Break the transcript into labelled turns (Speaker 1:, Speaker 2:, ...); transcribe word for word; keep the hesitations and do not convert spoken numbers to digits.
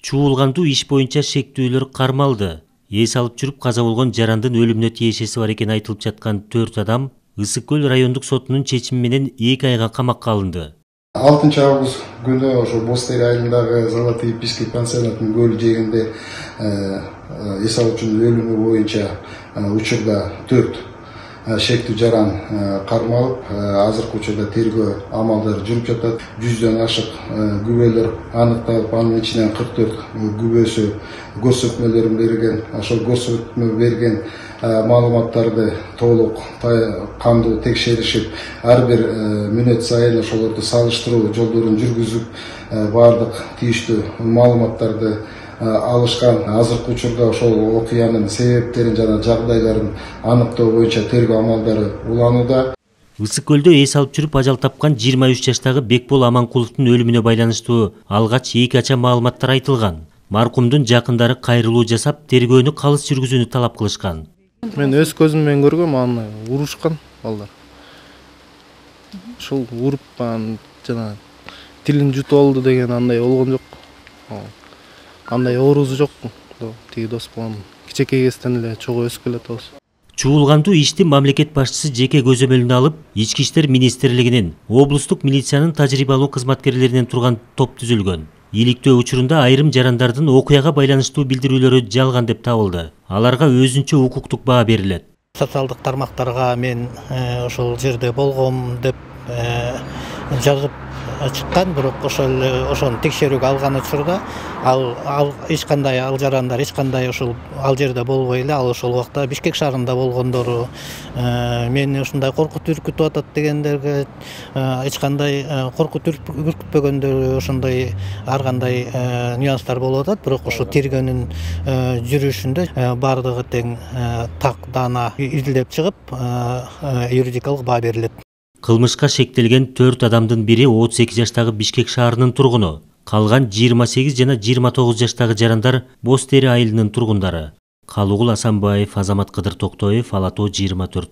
Speaker 1: Чуулгандуу иш боюнча шектүүлөр кармалды. Эс алып жүрүп каза болгон жарандын өлүмүнө тиешеси бар экени айтылып жаткан төрт адам Ысык көл райондук сотунун чечими менен эки айга камакка алынды.
Speaker 2: алтынчы август күнү ошо Бостери айылындагы Золотые писки пансионатынын көл жээгинде эс алуучунун өлүмү боюнча учурда төрт шектүү жаран кармалып, азыркы учурда тергөө амалдары жүрүп жатат. жүздөн ашык күбөлөр аныкталып, анын ичинен кырк төрт күбөсү көрсөтмөлөрүн берген. Ошол көрсөтмө берген маалыматтарды толук кандуу текшеришип, ар бир мүнөт сайын ошолорду салыштыруу жолдорун жүргүзүп, баардык тийиштүү маалыматтарды алышкан. Азыркы учурда ошол окуянын себептерин жана жагдайларын аныктоо боюнча тергөө амалдары уланууда.
Speaker 1: Ысык көлдө эс алып жүрүп ажал тапкан жыйырма үч жаштагы Бекбол Аманкуловдун өлүмүнө байланыштуу алгач эки ача маалыматтар айтылган. Маркумдун жакындары кайрылуу жасап, тергөөнү калыс жүргүзүүнү талап кылышкан.
Speaker 3: Мен өз көзүм менен көргөм, аны урушкан балдар. Ушул уруп анан жана тилин жутуп алды деген андай болгон жок. Андай оорусу жок. Тиги дос болгон кичинекей кезден эле чогуу өсүп келатабыз.
Speaker 1: Чуулгандуу ишти мамлекет башчысы жеке көзөмөлүнө алып, Ички иштер министрлигинин, облустук милициянын тажрыйбалуу кызматкерлеринен турган топ түзүлгөн. Иликтөө учурунда айрым жарандардын окуяга байланыштуу билдирүүлөрү жалган деп табылды. Аларга өзүнчө укуктук баа берилет.
Speaker 4: Социалдык тармактарга мен ошол жерде болгом деп жазып чыккан, бирок ошол ошону текшерүүгө алган учурда ал ал эч кандай ал жарандар эч кандай ошол ал жерде болбой эле, ал ошол убакта Бишкек шаарында болгондору, мени ушундай коркут үркүтүп атат дегендерге эч кандай коркут үркүтпөгөндөр, ошондой ар кандай нюанстар болуп атат. Бирок ошо тергөөнүн жүрүшүндө баардыгы тең так даана изилдеп чыгып, юридикалык баа берилет.
Speaker 1: Кылмышка шектелген төрт адамдын бири отуз эки жаштагы Бишкек шаарынын тургуну. Калган жыйырма сегиз жана жыйырма тогуз жаштагы жарандар Бостери айылынын тургундары. Калугул Асанбаев, Азамат Кыдыр Токтоев, Ала Тоо жыйырма төрт.